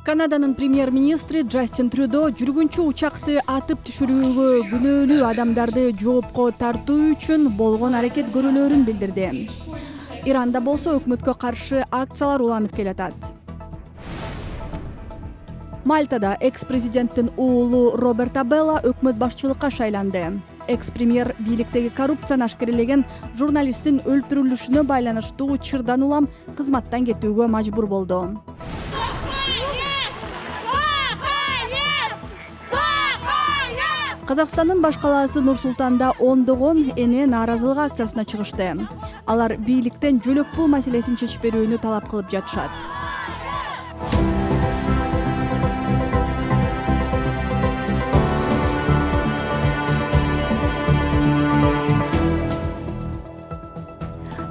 Канаданын премьер-министри Джастин Трюдо жүргүнчү учакты атып түшүрүүгө күнөөлүү адамдарды жоопко тартуу үчүн болгон аракет көрүүлөрүн билдирди. Иранда болсо өкмөткө каршы акциялар уланып келатат. Мальтада экс-президенттин уулу Роберт Абелла өкмөт башчылыкка шайланды. Экс-премьер бийликтеги коррупцияны ашкерелеген журналисттин өлтүрүлүшүнө байланыштуу чырдан улам кызматтан кетүүгө мажбур болду. Казакстандын баш калаасы Нур-Султанда ондогон эне нааразылык акциясына чыгышты. Алар бийликтен жөлөк пул маселесин чечип берүүнү талап кылып жатышат.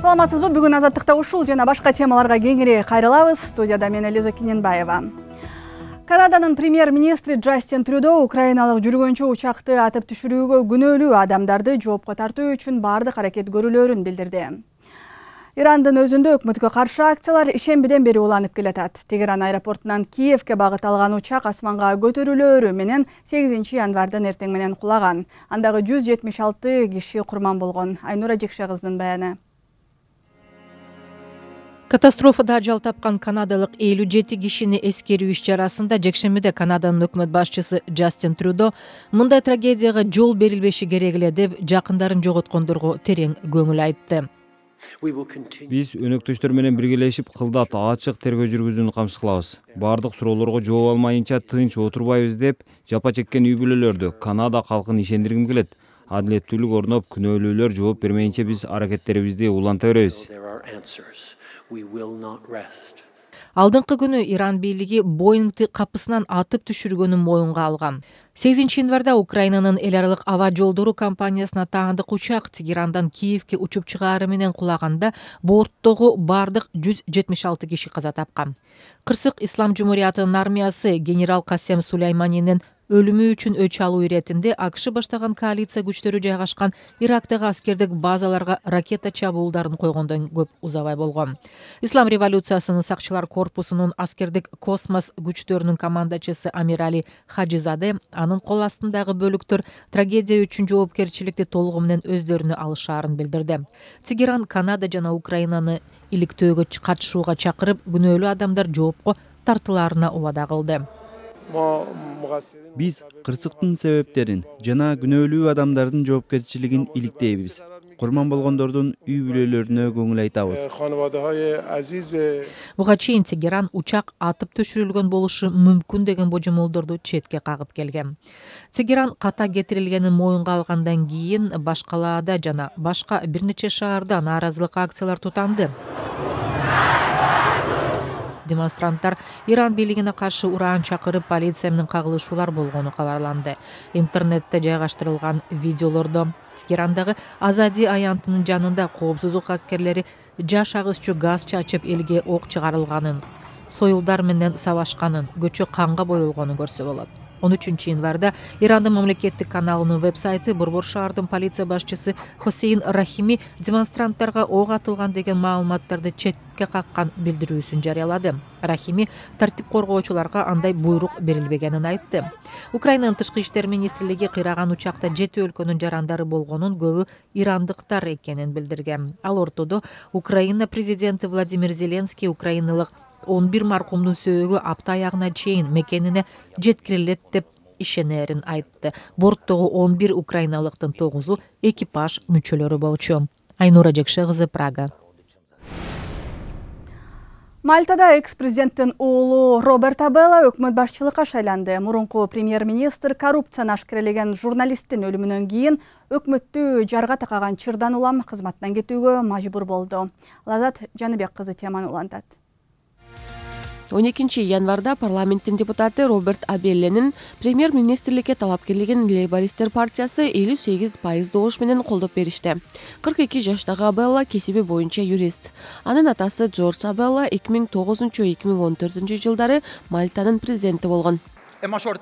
Саламатсызбы? Бүгүн Азаттыкта ушул жана башка темаларга кеңири кайрылабыз. Студияда мен Элиза Киненбаева. Канаданын премьер-министри Джастин Трюдо украиналык жүргөнчү учакты атып түшүрүүгө күнөөлүү адамдарды жоопко тартуу үчүн бардык аракет көрүүлөрүн билдирди. Ирандын өзүндө өкмөткө каршы акциялар ишембиден бери уланып келатат. Тегеран аэропортунан Киевке багыт алган учак асманга көтөрүлөөрү менен 8 январдын эртең менен кулаган. Андагы 176 киши курман болгон. Айнура Жекше кыздын баяны. Катастрофада ажал тапкан канадалык 57 кишини эскерүү иш-чарасында жекшембиде Канаданын өкмөт башчысы Джастин Трюдо мындай трагедияга жол берилбеши керек эле деп жакындарын жоготкондорго терең көңүл айтты. Биз өнөктөштөр менен биргелешип кылдат ачык тергөө жүргүзүүнү камсыз кылабыз. Бардык суроолорго жооп алмайынча тынч отурбайбыз деп жапа чеккен үй бүлөлөрдү Канада калкын ишендиргим келет. Адилеттүүлүк орноп, күнөөлүүлөр жооп бермейинче биз аракеттерибизди уланта беребиз. Алдыңкы күнү Иран бийлиги Боингти капысынан атып түшүргөнүн моюнга алган. 8 январда Украинанын эл аралык аба жолдору компаниясына таандык учак Тегерандан Киевке учуп чыгаары менен кулаганда борттогу бардык 176 киши каза тапкан. Кырсык Ислам Жумуриятынын армиясы генерал Касем Сулейманинин өлүмү үчүн өч алуу иретинде АКШ баштаган коалиция күчтөрү жайгашкан Ирактагы аскердик базаларга ракета чабуулдарын койгондон көп узабай болгон. Ислам революциясынын сакчылар корпусунун аскердик космос күчтөрүнүн командачысы Амир Али Хаджизаде анын кол астындагы бөлүктөр трагедия үчүн жоопкерчиликти толугу менен өздөрүнө алышаарын билдирди. Тегеран Канада жана Украинаны иликтөөгө катышууга чакырып, күнөөлүү адамдар жоопко тартылаарына убада кылды. Биз кырсыктын себептерин жана күнөөлүү адамдардын жоопкерчилигин иликтейбиз. Курман болгондордун үй бүлөлөрүнө көңүл айтабыз. Буга чейин Тегеран учак атып түшүрүлгөн болушу мүмкүн деген божомолдорду четке кагып келген. Тегеран ката кетирилгенин моюнга алгандан кийин баш калаада жана башка бир нече шаарда нааразылык акциялар тутанды. Демонстранттар Иран бийлигине каршы ураан чакырып, полиция менен кагылышуулар болгону кабарланды. Интернетте жайгаштырылган видеолордо Тегерандагы Азади аянтынын жанында коопсуздук аскерлери жаш агысчу газ чачып элге ок чыгарылганын, союлдар менен сабашканын, көчө канга боелгонун көрсө болот. 13 январда Ирандын мамлекеттик каналынын веб-сайты Борбор шаардын полиция башчысы Хосейн Рахими демонстранттарга ок атылган деген маалыматтарды четке каккан билдирүүсүн жарыялады. Рахими тартип коргоочуларга андай буйрук берилбегенин айтты. Украинанын тышкы иштер министрлиги кыйраган учакта 7 өлкөнүн жарандары болгонун, көбү ирандыктар экенин билдирген. Ал ортодо Украина президенти Владимир Зеленский украиналык 11 маркумдун сөөгү апта аягына чейин мекенине жеткирилет деп ишенерин айтты. Борттогу 11 украиналыктын 9-у экипаж мүчөлөрү болчу. Айнура Жекше кызы, Прага. Мальтада экс-президенттин уулу Роберт Абелла өкмөт башчылыкка шайланды. Мурунку премьер-министр коррупцияны ашкерелеген журналисттин өлүмүнөн кийин өкмөттү жарга такаган чырдан улам кызматтан кетүүгө мажбур болду. Лазат Жаныбек кызы теманы улантат. 12 январда парламенттин депутаты Роберт Абелленин премьер-министрликке талапкерлигин Лейбористтер партиясы 58% добуш менен колдоп беришти. 42 жаштагы Абелла кесиби боюнча юрист. Анын атасы Джордж Абелла 2009-2014 жылдары Мальтанын президенти болгон.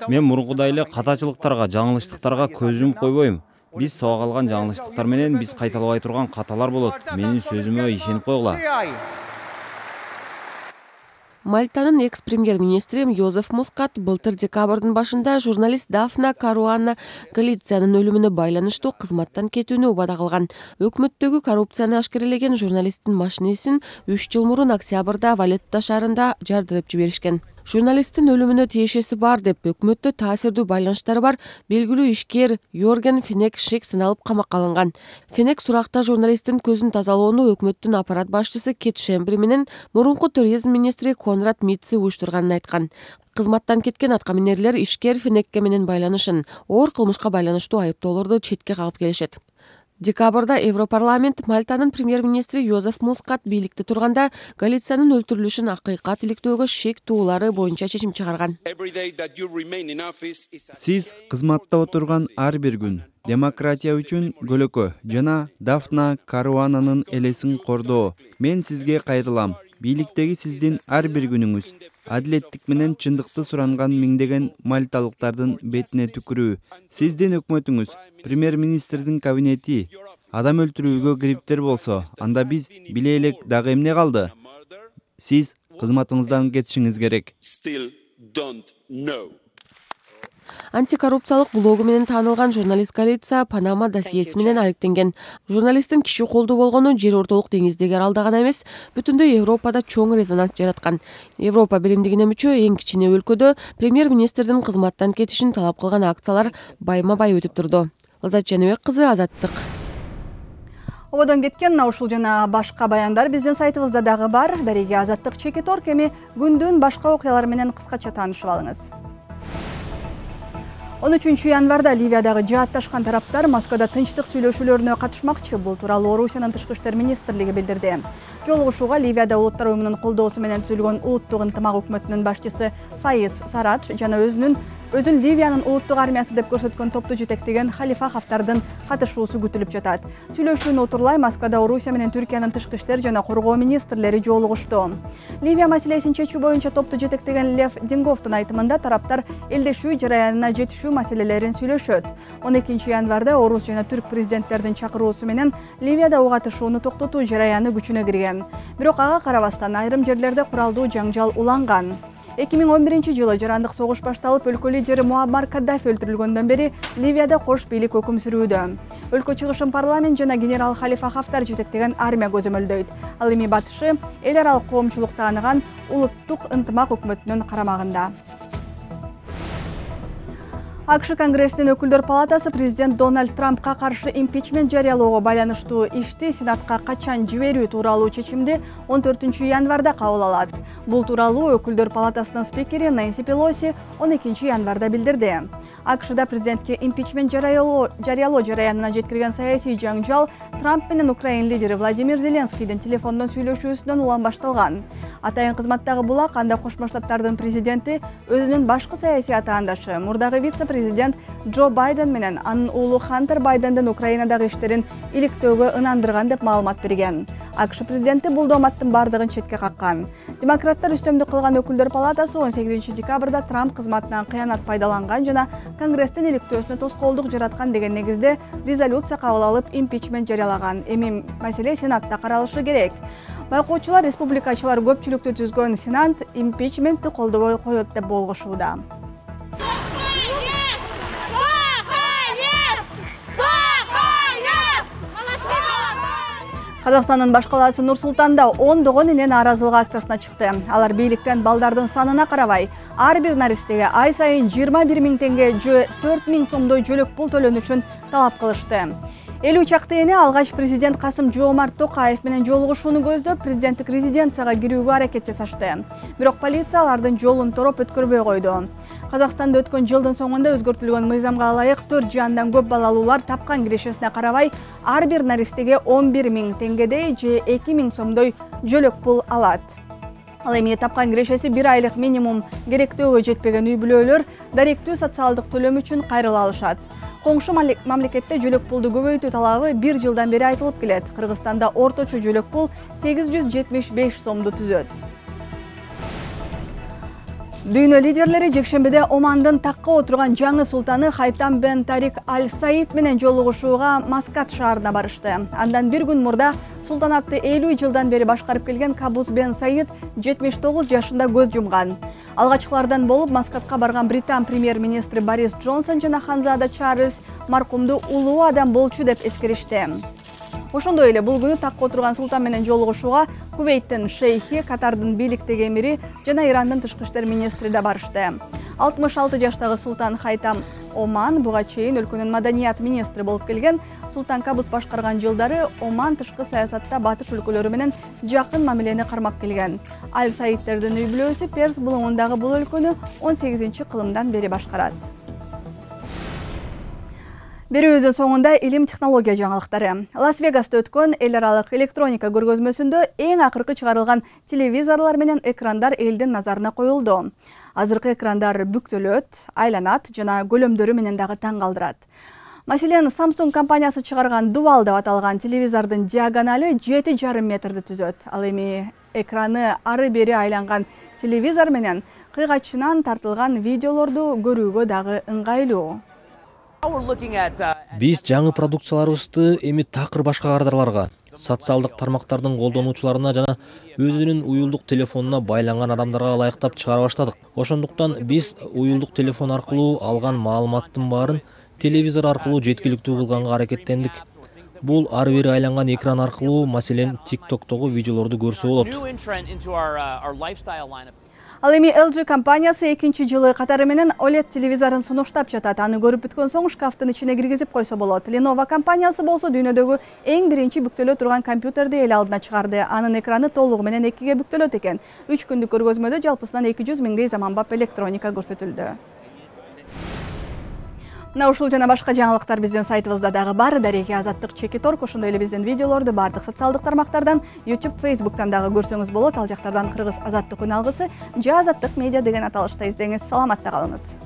Мен мурункудай эле катачылыктарга, жаңылыштыктарга көз жумуп койбойм. Биз сабак алган жаңылыштыктар менен биз кайталабай турган каталар болот. Менин сөзүмө ишенип койгула. Мальтанын экс-премьер-министри Йозеф Мускат былтыр декабрдын башында журналист Дафна Каруана Галициянын өлүмүнө байланыштуу кызматтан кетүүнү убада кылган. Өкмөттөгү коррупцияны ашкерелеген журналисттин машинесин 3 жыл мурун октябрда Валетта шаарында жардырып жиберишкен. Журналисттин өлүмүнө тиешеси бар деп өкмөттө таасирдүү байланыштары бар белгилүү ишкер Йорген Фенек Шик сыналып камакка алынган. Фенек суракта журналисттин көзүн тазалоону өкмөттүн аппарат башчысы Кет Шембри менен мурунку туризм министри Конрад Митци уюштурганын айткан. Кызматтан кеткен аткаминерлер ишкер Фенекке менен байланышын, оор кылмышка байланыштуу айыптоолорду четке кагып келишет. Декабрда Европарламент Мальтанын премьер-министри Йозеф Мускат бийликте турганда Галициянын өлтүрүлүшүн акыйкат иликтөөгө шек туулары боюнча чечим чыгарган. Сиз кызматта отурган ар бир күн демократия үчүн көлөкө жана Дафна Каруананын элесин кордоо. Мен сизге кайрылам. Бийликтеги сиздин ар бир күнүңүз адилеттик менен чындыкты суранган миңдеген мальталыктардын бетине түкүрүү. Сиздин өкмөтүңүз, премьер-министрдин кабинети адам өлтүрүүгө кириптер болсо, анда биз биле элек дагы эмне калды? Сиз кызматыңыздан кетишиңиз керек. Антикоррупциялык блогу менен таанылган журналист Галиция Панама досьеси менен айыпталган. Журналисттин киши колдуу болгону жер ортолук деңиздеги аралда гана эмес, бүтүндөй Европада чоң резонанс жараткан. Европа биримдигине мүчө эң кичине өлкөдө премьер-министрдин кызматтан кетишин талап кылган акциялар байма-бай өтүп турду. Лазат Жаныбек кызы, Азаттык. Ободон кеткен ушул жана башка баяндар биздин сайтыбызда дагы бар. Дареге Азаттык Чекиторг, эми күндүн башка окуялары менен кыскача таанышып алыңыз. 13 январда Ливиядагы жаатташкан тараптар Москвада тынчтык сүйлөшүүлөрүнө катышмакчы. Бул тууралуу Орусиянын тышкы иштер министрлиги билдирди. Жолугушууга Ливияда Улуттар уюмунун колдоосу менен түзүлгөн улуттук ынтымак өкмөтүнүн башчысы Фаиз Сарадж жана өзүн Ливиянын улуттук армиясы деп көрсөткөн топту жетектеген Халифа Хафтардын катышуусу күтүлүп жатат. Сүйлөшүүнү утурлай Москвада Орусия менен Түркиянын тышкы иштер жана коргоо министрлери жолугушту. Ливия маселесин чечүү боюнча топту жетектеген Лев Динговдун айтымында тараптар элдешүү жараянына жетишүү маселелерин сүйлөшөт. 12 январда орус жана түрк президенттердин чакыруусу менен Ливияда ок атышууну токтотуу жараяны күчүнө кирген. Бирок ага карабастан айрым жерлерде куралдуу жаңжал уланган. 2011-жылы жарандык согуш башталып, өлкө лидери Муаммар Каддафи өлтүрүлгөндөн бери Ливияда кош бийлик өкүм сүрүүдө. Өлкө чыгышын парламент жана генерал Халифа Хафтар жетектеген армия көзөмөлдөйт. Ал эми батышы эл аралык коомчулук тааныган улуттук ынтымак өкмөтүнүн карамагында. АКШ Конгрессинин өкүлдөр палатасы президент Дональд Трампка каршы импичмент жарыялоого байланыштуу ишти Сенатка качан жиберүү тууралуу чечимди 14 январда кабыл алат. Бул тууралуу өкүлдөр палатасынын спикери Нэнси Пелоси 12 январда билдирди. АКШда президентке импичмент жарыялоо жараянына жеткирген саясий жаңжал Трамп менен Украина лидери Владимир Зеленскийдин телефондон сүйлөшүүсүнөн улам башталган. Атайын кызматтагы булак анда Кошмо Штаттардын президенти өзүнүн башкы саясий атаандашы мурдагы вице-президент Джо Байден менен анын уулу Хантер Байдендин Украинадагы иштерин иликтөөгө ынандырган деп маалымат берген. АКШ президенти бул дооматтын бардыгын четке каккан. Демократтар үстөмдүк кылган өкүлдөр палатасы 18 декабрда Трамп кызматынан кыянат пайдаланган жана Конгресстин иликтөөсүнө тоскоолдук жараткан деген негизде резолюция кабыл алып импичмент жарыялаган. Эми маселе Сенатта каралышы керек. Байкоочулар республикачылар көпчүлүктү түзгөн Сенат импичментти колдобой коет деп болгошууда. Казакстандын баш калаасы Нур-Султанда ондогон эле нааразылык акциясына чыкты. Алар бийликтен балдардын санына карабай, ар бир наристеге ай сайын 21 000 теңге же 4 000 сомдой жөлөк пул төлөнүшүн талап кылышты. 50 чакты эне алгач президент Касым-Жомарт Токаев менен жолугушууну көздөп, президенттик резиденцияга кирүүгө аракет жасашты. Бирок полиция алардын жолун тороп өткөрбөй койду. Казакстанда өткөн жылдын соңунда өзгөртүлгөн мыйзамга ылайык 4 жандан көп балалуулар тапкан кирешесине карабай, ар бир наристеге 11 000 теңгедей же 2 000 сомдой жөлөк пул алат. Ал эми тапкан кирешеси 1 айлык минимум керектөөгө жетпеген үй бүлөлөр даректүү социалдык төлөм үчүн кайрыла алышат. Коңшу мамлекетте жөлөк пулду көбөйтүү талабы 1 жылдан бери айтылып келет. Кыргызстанда орточо жөлөк пул 875 сомду түзөт. Дүйнө лидерлери жекшембиде Омандын такка отурган жаңы султаны Хайтам бен Тарик Аль Саид менен жолугушууга Маскат шаарына барышты. Андан бир күн мурда султанатты 50 жылдан бери башкарып келген Кабус бен Саид 79 жашында көз жумган. Алгачкылардан болуп Маскатка барган Британ премьер-министри Борис Джонсон жана ханзада Чарльз маркумду улуу адам болчу деп эскеришти. Ошондой эле бул күнү такка отурган султан менен жолугушууга Кувейттин шейхи, Катардын бийликтеги эмири жана Ирандын тышкы иштер министри да барышты. 66 жаштагы султан Хайтам Оман буга чейин өлкөнүн маданият министри болуп келген. Султан Кабус башкарган жылдары Оман тышкы саясатта батыш өлкөлөрү менен жакын мамилени кармап келген. Аль Саидтердин үй бүлөсү Перс булуңундагы бул өлкөнү 18-кылымдан бери башкарат. Берүүбүздүн соңунда илим технология жаңылыктары. Лас-Вегаста өткөн эл аралык электроника көргөзмөсүндө эң акыркы чыгарылган телевизорлор менен экрандар элдин назарына коюлду. Азыркы экрандар бүктөлөт, айланат жана көлөмдөрү менен дагы таң калтырат. Маселен, Samsung компаниясы чыгарган Dual деп аталган телевизордун диагонали 7,5 метрди түзөт. Ал эми экраны ары-бери айланган телевизор менен кыйгачынан тартылган видеолорду көрүүгө дагы ыңгайлуу. Биз жаңы продукцияларыбызды эми такыр башка кадрларга, социалдык тармактардын колдонуучуларына жана өзүнүн уюлдук телефонуна байланган адамдарга ылайыктап чыгара баштадык. Ошондуктан биз уюлдук телефон аркылуу алган маалыматтын баарын телевизор аркылуу жеткиликтүү кылганга аракеттендик. Бул ары-бери айланган экран аркылуу, маселен, TikTok'тогу видеолорду көрсө болот. Ал эми LG компаниясы 2-жылы катары менен OLED телевизорун сунуштап жатат. Аны көрүп бүткөн соң шкафтын ичине киргизип койсо болот. Lenovo компаниясы болсо дүйнөдөгү эң биринчи бүктөлө турган компьютерди эл алдына чыгарды. Анын экраны толугу менен 2ге бүктөлөт экен. 3 күндүк көргөзмөдө жалпысынан 200 миңдей заманбап электроника көрсөтүлдү. Мына ушул жана башка жаңылыктар биздин сайтыбызда дагы бар. Дареги Азаттык /Org, ошондой эле биздин видеолорду бардык социалдык тармактардан, YouTube, Facebook'тан дагы көрсөңүз болот. Ал жактардан Кыргыз Азаттык үн алгысы же Азаттык медиа деген аталышта издеңиз. Саламатта калыңыз.